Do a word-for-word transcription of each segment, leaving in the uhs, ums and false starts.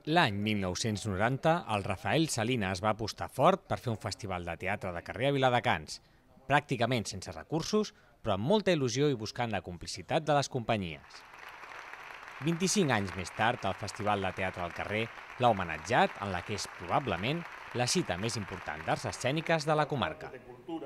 L'any mil nou-cents noranta, el Rafael Salinas va apostar fort per fer un festival de teatre de carrer a Viladecans, pràcticament sense recursos, però amb molta il·lusió i buscant la complicitat de les companyies. vint-i-cinc anys més tard, el Festival de Teatre al Carrer l'ha homenatjat en la que és probablement la cita més important d'arts escèniques de la comarca.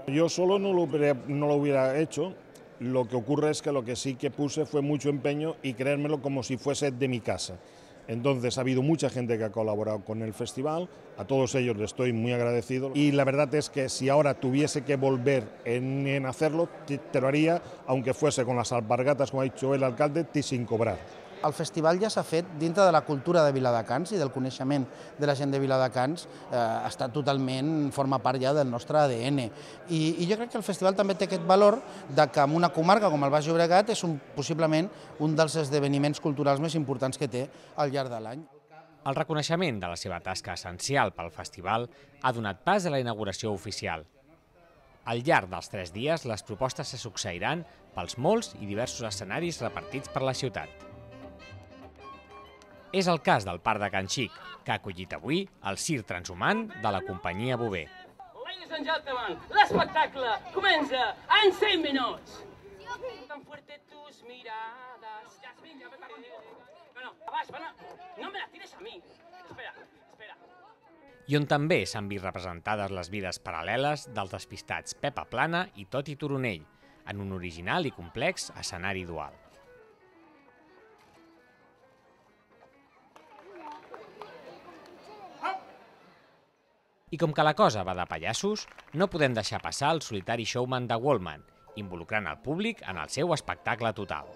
Yo solo no lo, hubiera, no lo hubiera hecho, lo que ocurre es que lo que sí que puse fue mucho empeño y creérmelo como si fuese de mi casa. Entonces ha habido mucha gente que ha colaborado con el festival, a todos ellos les estoy muy agradecido y la verdad es que si ahora tuviese que volver en, en hacerlo, te, te lo haría, aunque fuese con las alpargatas, como ha dicho el alcalde, y sin cobrar. El festival ja s'ha fet dintre de la cultura de Viladecans i del coneixement de la gent de Viladecans, eh, està totalment, forma part ja del nostre A D N. I, I jo crec que el festival també té aquest valor de que en una comarca com el Baix Llobregat és un, possiblement un dels esdeveniments culturals més importants que té al llarg de l'any. El reconeixement de la seva tasca essencial pel festival ha donat pas a la inauguració oficial. Al llarg dels tres dies, les propostes se succeiran pels molts i diversos escenaris repartits per la ciutat. És el cas del Parc de Can Xic, que ha acollit avui el circ transhumant de la companyia Bové. Ladies and gentlemen, l'espectacle comença en cinc minuts. Tan fuerte tus miradas. Jasmine, ya ven conmigo. No, no, vas, van a... No me la tires a mi. Espera, espera. I on també s'han vist representades les vides paral·leles dels despistats Pepa Plana i Toti Turonell, en un original i complex escenari dual. I com que la cosa va de pallassos, no podem deixar passar el solitari showman de Wallman, involucrant el públic en el seu espectacle total.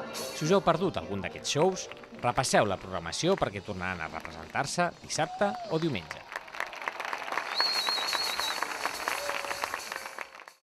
Si us heu perdut algun d'aquests shows, repasseu la programació perquè tornaran a representar-se dissabte o diumenge.